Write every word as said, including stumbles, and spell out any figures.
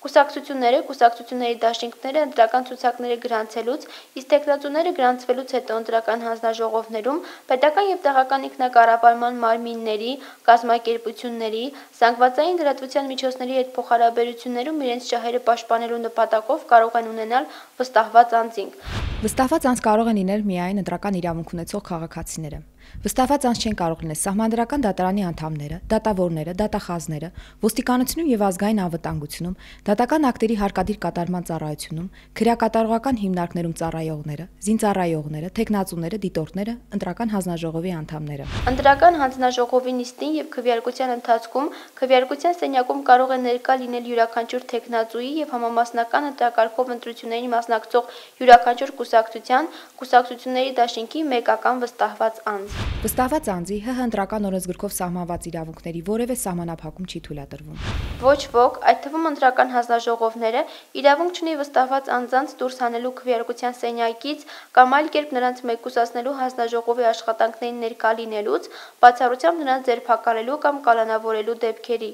Կուսակցությունները, կուսակցությունների դաշինքները ընտրական ցուցակները գրանցելուց, իսկ թեկնածուները գրանցվելուց հետո ընտրական հանձնաժողովներում պետական եւ տեղական ինքնակառավարման մարմինների, կազմակերպությունների, զանգվածային լրատվության միջոցների հետ փոխհարաբերություններում իրենց շահերը պաշտպանելու նպատակով կարող են ունենալ վստահված անձինք։ Վստահված անձ կարող են լինել միայն ընտրական իրավունք ունեցող քաղաքացիները։ Վստահված անձ չեն կարող լինել Սահմանադրական դատարանի անդամները, դատավորները, դատախազները, ոստիկանությունում եւ ազգային անվտանգությունում, դատական ակտերի հարկադիր կատարման ծառայությունում, քրեակատարողական հիմնարկներում ծառայողները, զինծառայողները, թեկնածուները, դիտորդները, ընտրական հանձնաժողովի անդամները։ Ընտրական հանձնաժողովի նիստին եւ քվեարկության ընթացքում քվեարկության սենյակում կարող է ներկա լինել յուրաքանչյուր թեկնածուի եւ համամասնական ընտրակարգով ընտրություններին մասնակցող յուրաքանչյուր կուսակցության, կուսակցությունների դաշինքի մեկական վստահված անձ։ Վստահված անձի ՀՀ ընտրական օրենսգրքով սահմանված իրավունքների որևէ սահմանափակում չի թույլատրվում։ Ոչ ոք, այդ թվում ընտրական հանձնաժողովները, իրավունք չունի վստահված անձանց դուրս հանելու քվեարկության սենյակից կամ այլ կերպ նրանց մեկուսացնելու հանձնաժողովի աշխատանքներին ներկա լինելուց, բացառությամբ նրանց ձերբակալելու կամ կալանավորելու դեպքերի։